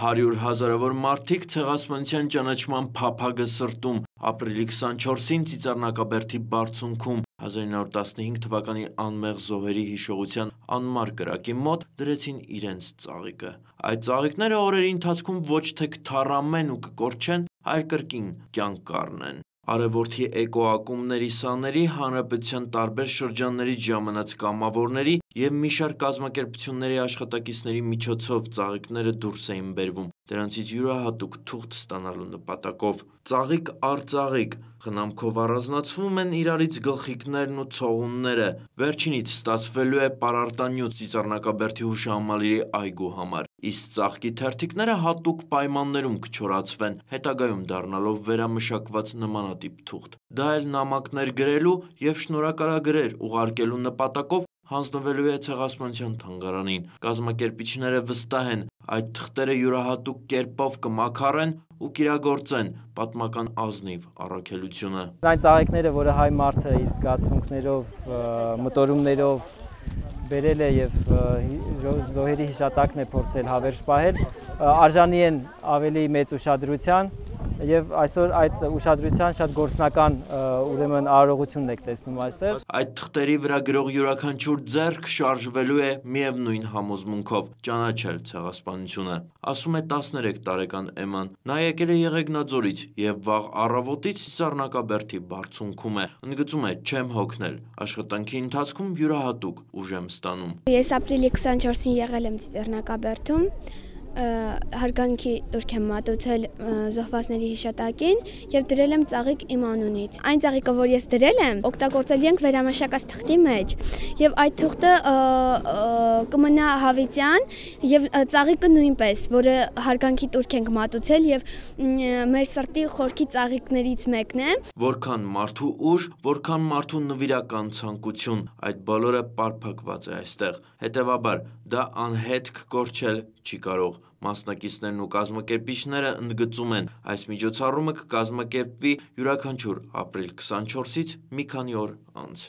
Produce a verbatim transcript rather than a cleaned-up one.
Հարյուր հազարավոր մարդիկ ցեղասպանության ճանաչման փափագը սրտում ապրիլի քսանչորսին Ծիծեռնակաբերդի բարձունքում հազար իննսուն տասնհինգ թվականի անմեղ զոհերի հիշողության անմար կրակի մոտ դրեցին իրենց ծաղիկը։ Այդ ծաղիկները օրերի ընթացքում ոչ թե կթառամեն ու կկորչեն, այլ կրկին կյանք կառնեն։ Արևորդի էկոակումբների սաների, հանրապետության տարբեր շրջաններից ժամանած կամավորների և մի շարք կազմակերպությունների աշխատակիցների միջոցով ծաղիկները դուրս էին բերվում, դրանցից յուրահատուկ թուղթ ստանալու նպատակով։ Ծաղիկ առ ծաղիկ խնամքով առանձնացվում են իրարից գլխիկներն ու ցողունները, վերջինից ստացվելու է պարարտանյութ Ծիծեռնակաբերդի հուշահամալիրի այգու համար, իսկ ծաղկի թերթիկները հատուկ պայմաններում կչորացվեն, հետագայում դառնալով վերամշակված նմանատիպ թուղթ։ Դա էլ նամակներ գրելու և շնորհակալագրեր ուղարկելու նպատակով հանձնվելու է Ցեղասպանության թանգարանին։ Կազմակերպիչները վստահ են, այդ թղթերը յուրահատուկ կերպով կմաքարեն ու կիրագործեն պատմական ազնիվ առաքելությունը։ Այն ծաղիկները, որը հայ մարդը իր զգացմունքներով, մտորումներով բերել է և զոհերի հիշատակն է փորձել հավերժ պահել, արժանի են ավելի մեծ ուշադրության և այսօր այդ ուշադրության շատ գործնական ուրեմն արարողությունն եք տեսնում այստեղ։ Այդ թղթերի վրա գրող յուրաքանչյուր ձեռք շարժվելու է միևնույն համոզմունքով՝ ճանաչել ցեղասպանությունը, ասում է տասներեք տարեկան Էման։ Նա եկել է Եղեգնաձորից և վաղ առավոտից Ծիծեռնակաբերդի բարձունքում է։ Ընդգծում է՝ չեմ հոգնել, աշխատանքի ընթացքում յուրահատուկ ուժ եմ ստանում։ Ես ապրիլի քսանչորսին եղել եմ Ծիծեռնակաբերդում, հարգանքի տուրք եմ մատուցել զոհվածների հիշատակին և դրել եմ ծաղիկ իմ անունից։ Այն ծաղիկը, որ ես դրել եմ, օգտագործել ենք վերամշակած թղթի մեջ, և այդ թուղթը կմնա հավիտյան, և ծաղիկը նույնպես, որը հարգանքի տուրք ենք մատուցել և մեր սրտի խորքի ծաղիկներից մեկն է։ Որքան մարդու ուժ, որքան մարդու նվիրական ցանկություն, այդ բոլորը պարփակված է այստեղ։ Հետևաբար, դա անհետք կորչել չի կարող։ Մասնակիցներն ու կազմակերպիչները ընդգծում են՝ այս միջոցառումը կկազմակերպվի յուրաքանչյուր ապրիլ քսանչորսից մի քանի օր անց։